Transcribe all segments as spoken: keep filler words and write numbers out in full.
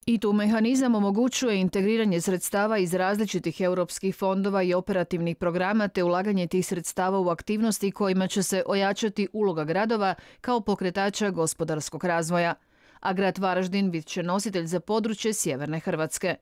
I tu mehanizam omogućuje integriranje sredstava iz različitih europskih fondova i operativnih programa te ulaganje tih sredstava u aktivnosti kojima će se ojačati uloga gradova kao pokretača gospodarskog razvoja. A grad Varaždin bit će nositelj za područje sjeverne Hrvatske.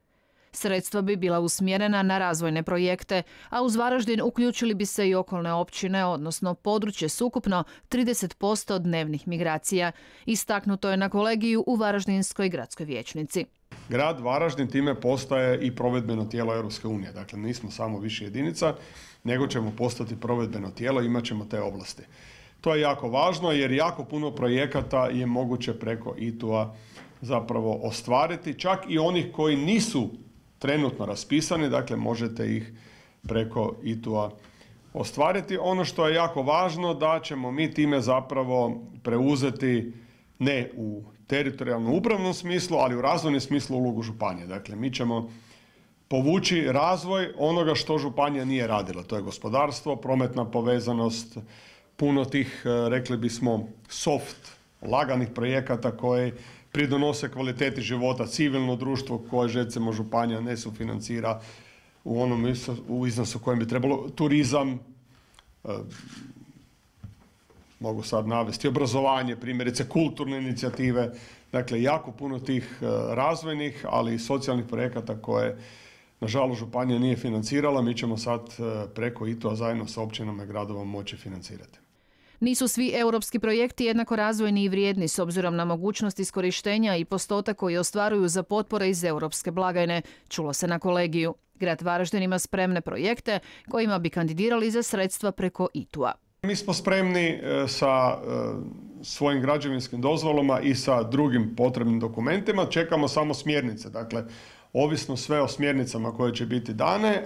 Sredstva bi bila usmjerena na razvojne projekte, a uz Varaždin uključili bi se i okolne općine, odnosno područje s ukupno trideset posto dnevnih migracija. Istaknuto je na kolegiju u Varaždinskoj gradskoj vijećnici. Grad Varaždin time postaje i provedbeno tijelo Europske unije. Dakle, nismo samo više jedinica, nego ćemo postati provedbeno tijelo i imat ćemo te ovlasti. To je jako važno jer jako puno projekata je moguće preko I T U-a zapravo ostvariti, čak i onih koji nisu trenutno raspisani, dakle možete ih preko I T U-a ostvariti. Ono što je jako važno da ćemo mi time zapravo preuzeti ne u teritorijalno upravnom smislu, ali u razvojnom smislu ulogu županije. Dakle, mi ćemo povući razvoj onoga što županija nije radila. To je gospodarstvo, prometna povezanost, puno tih, rekli bismo, soft, laganih projekata koji pridonose kvaliteti života, civilno društvo koje recimo županija ne sufinancira u onom u iznosu kojem bi trebalo, turizam, e, mogu sad navesti, obrazovanje, primjerice kulturne inicijative, dakle jako puno tih e, razvojnih, ali i socijalnih projekata koje nažalost županija nije financirala, mi ćemo sad e, preko I T U-a zajedno sa općinama i gradovima moći financirati. Nisu svi europski projekti jednako razvojni i vrijedni s obzirom na mogućnost iskorištenja i postotak koji ostvaruju za potpore iz europske blagajne, čulo se na kolegiju. Grad Varaždin ima spremne projekte kojima bi kandidirali za sredstva preko I T U-a. Mi smo spremni sa svojim građevinskim dozvolama i sa drugim potrebnim dokumentima, čekamo samo smjernice. Dakle, ovisno sve o smjernicama koje će biti dane,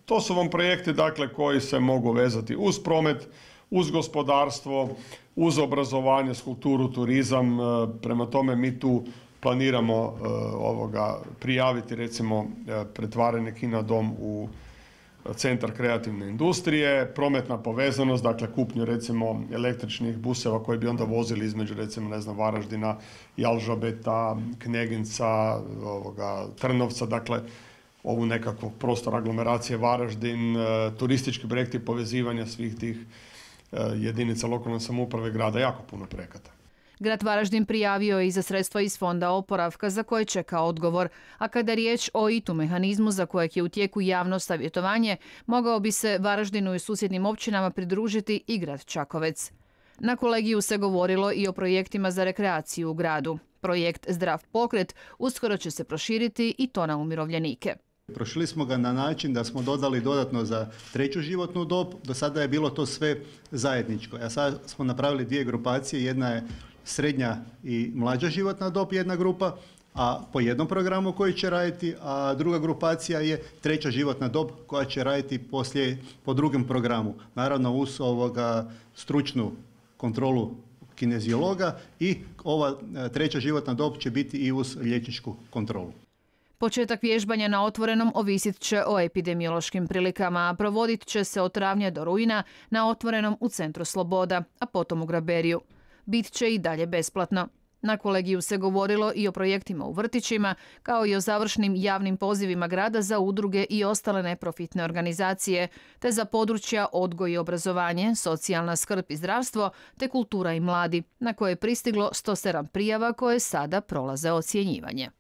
to su vam projekti dakle, koji se mogu vezati uz promet, uz gospodarstvo, uz obrazovanje, kulturu, turizam. Prema tome mi tu planiramo ovoga prijaviti recimo pretvaranje Kina dom u centar kreativne industrije, prometna povezanost, dakle kupnju recimo električnih buseva koji bi onda vozili između recimo ne znam Varaždina, Jalžabeta, Kneginca, ovoga, Trnovca, dakle ovu nekakvog prostora aglomeracije Varaždin, turistički projekti povezivanja svih tih jedinica lokalne samouprave grada, jako puno projekata. Grad Varaždin prijavio je i za sredstva iz Fonda oporavka za koje čeka odgovor, a kada je riječ o I T U mehanizmu za kojeg je u tijeku javno savjetovanje, mogao bi se Varaždinu i susjednim općinama pridružiti i grad Čakovec. Na kolegiju se govorilo i o projektima za rekreaciju u gradu. Projekt Zdrav pokret uskoro će se proširiti i to na umirovljenike. Prošli smo ga na način da smo dodali dodatno za treću životnu dob, do sada je bilo to sve zajedničko. A sad smo napravili dvije grupacije, jedna je srednja i mlađa životna dob, jedna grupa, a po jednom programu koji će raditi, a druga grupacija je treća životna dob koja će raditi poslije, po drugom programu. Naravno uz ovoga stručnu kontrolu kineziologa i ova treća životna dob će biti i uz liječničku kontrolu. Početak vježbanja na otvorenom ovisit će o epidemiološkim prilikama, a provodit će se od travnja do rujna na otvorenom u Centru Sloboda, a potom u Graberiju. Bit će i dalje besplatno. Na kolegiju se govorilo i o projektima u vrtićima, kao i o završnim javnim pozivima grada za udruge i ostale neprofitne organizacije, te za područja odgoj i obrazovanje, socijalna skrb i zdravstvo, te kultura i mladi, na koje je pristiglo sto sedam prijava koje sada prolaze ocjenjivanje.